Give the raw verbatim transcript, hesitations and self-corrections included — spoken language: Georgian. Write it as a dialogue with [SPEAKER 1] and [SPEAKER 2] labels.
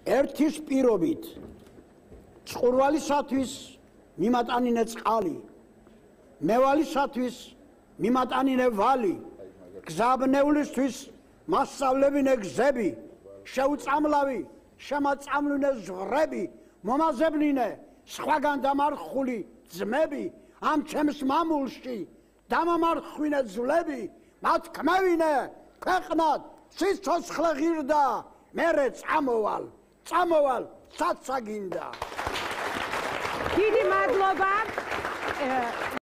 [SPEAKER 1] ერთის პირობით წყურვალისათვის მიმატანინე წყალი, მევალისათვის მიმატანინე ვალი, გზაბნეულისთვის მასწავლებინე გზები, შეუწამლავი შემაწამლინე ზღვრები, მომაზებნინე სხვაგან დამარხული ძმები, ამ ჩემს მამულში დამამარხვინე ძვლები, მათ ქმევინე ქვეყნად სიცოცხლე ღირდა, მერე წამოვალ, წამოვალ, საცაგინდა.
[SPEAKER 2] დიდი მადლობა.